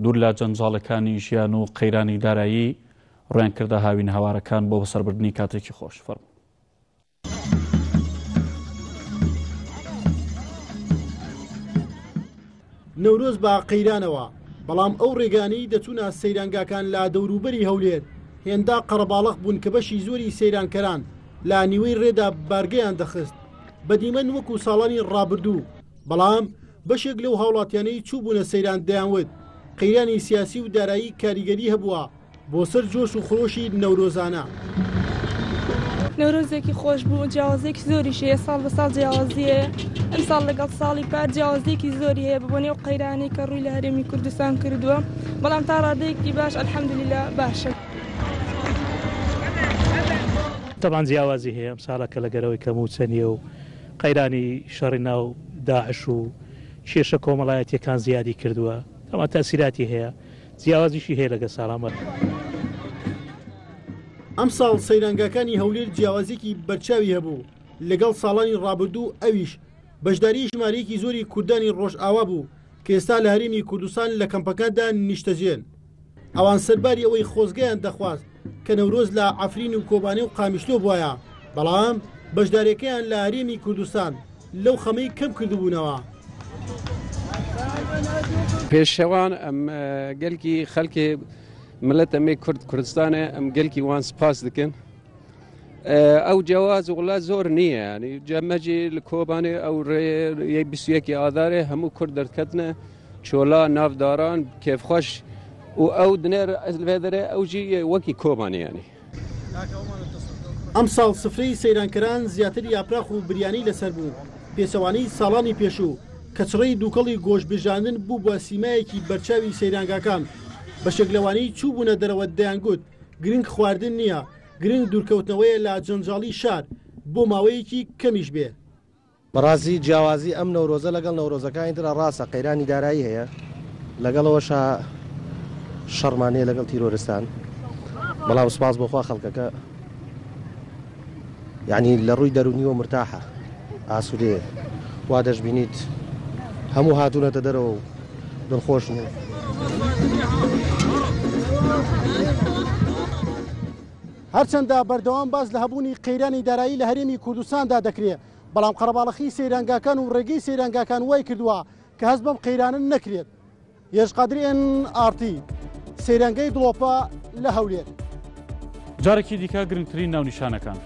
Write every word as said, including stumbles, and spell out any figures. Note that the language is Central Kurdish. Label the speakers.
Speaker 1: دوور لە جەنجاڵەکانی ژیان و قەیرانی دارایی ڕویان کردە هاوین هاوارەکان بۆ بەسەربردنی کاتێکی خۆش. فەرموو.
Speaker 2: نەورۆز بە قەیرانەوە، بەڵام ئەو ڕێگانەی دەچوونە سەیرانگاکان لە دەوروبەری هەولێر هێندا قەرەباڵغ بوون کە بەشی زۆری سەیرانکەران لە نیوەی ڕێدا بارگەیان دەخست بە دیمەن وەکو ساڵانی ڕابردوو. بەڵام بەشێک لەو هاوڵاتیانەی چوو بوونە سەیران دەیانوت قەیرانی سیاسی و دارایی کاریگەری هەبووە بۆ سەر جۆش و خرۆشی نەورۆزانە.
Speaker 3: نەورۆزێکی خۆش بوو، جیاوازێکی زۆریش هەیە، ساڵ بە ساڵ جیاوازیە. ئەمساڵ لەگەڵ ساڵی پار جیاوازیەکی زۆری هەیە بە بۆنەی ئەو قەیرانەی کە ڕووی لە هەرێمی کوردستان کردووە، بەڵام تا ڕادەیەکی باش الحەمدللە باشە.
Speaker 4: طبعا جیاوازی هەیە ئەم ساڵە کە لەگەرەوەی کە موچە نییە و قەیرانی شەڕی ناو داعش و کێشە کۆمەڵایەتیەکان زیادی کردووە، طبعا تەسیراتی هەیە، جیاوازیشی هەیە لەگە ساڵامە.
Speaker 2: ئەمساڵ سەیرانگاکانی هەولێر جیاوازێکی بەرچاوی هەبوو لەگەڵ ساڵانی ڕابردوو، ئەویش بەشداری ژمارەیەکی زۆری کوردانی ڕۆژئاوا بوو کە ئێستا لە هەرێمی کوردستان لە کەمپەکاندا نیشتەجێن. ئەوان سەرباری ئەوەی خۆزگەیان دەخواست کە نەورۆز لە عەفرین و کۆبانێ و قامیشلۆ بواە، بەڵام بەشداریەکەیان لە هەرێمی کوردستان لەو خەمەی کەم کردبوونەوە.
Speaker 5: پێشەوان ئەم گەلکی خەڵکی ملت ئەمێ کورد کوردستانە، ئەم گەلکی وان سپاس دەکەن. ئەو جیاواز وڵا زۆر نییە، ینی جەمەجی لە کۆبانێ ئەو ڕێ بیست و یەکی ئادارێ هەموو کورد دەرکەتنە چۆلا ناوداران کێفخۆش و ئەو دنێر لێ دەرێ ئەو جی وەکی کۆبانێ. ینی
Speaker 2: ئەمساڵ سفرەی سەیرانکەران زیاتر یاپراخ و بریانی لەسەر بوو، پێچەوانەی ساڵانی پێشوو کە چڕەی دووکەڵی گۆشتبژاندن بوو بە سیمایەکی بەرچاوی سەیرانگاکان. بەشێک لەوانەی چوو بوونە دەرەوە دەیانگوت گرنگ خواردن نییە، گرنگ دوورکەوتنەوەیە لە جەنجاڵی شار بۆ ماوەیەکی کەمیش بێ.
Speaker 6: بەڕازی جیاوازی ئەم نەورۆزە لەگەڵ نەورۆزەکانی ترە ڕاستە قەیرانی دارایی هەیە، لەگەڵەوەشە شەڕمانەیە لەگەڵ تیرۆرستان، بەڵام سوپاس بۆخوا خەڵکەکە یعنی لە ڕووی دەرونیەوە مرتاحە، ئاسوودەیە، وا دەشبینیت هەموو هاتوونەتە دەرەوە و دڵخۆشن.
Speaker 2: هەرچەندە بەردەوام باز لە هەبوونی قەیرانی دارایی لە هەرێمی کوردستاندا دەکرێت، بەڵام قەرەباڵخی سەیرانگاکان و ڕێگەی سەیرانگاکان وای کردووە کە هەست بەم قەیرانە نەکرێت. یێژ قادری ئێن ئاڕ تی، سەیرانگەی دڵۆپە لە هەولێر.
Speaker 1: جارێکی دیکە گرنگترین ناونیشانەکان.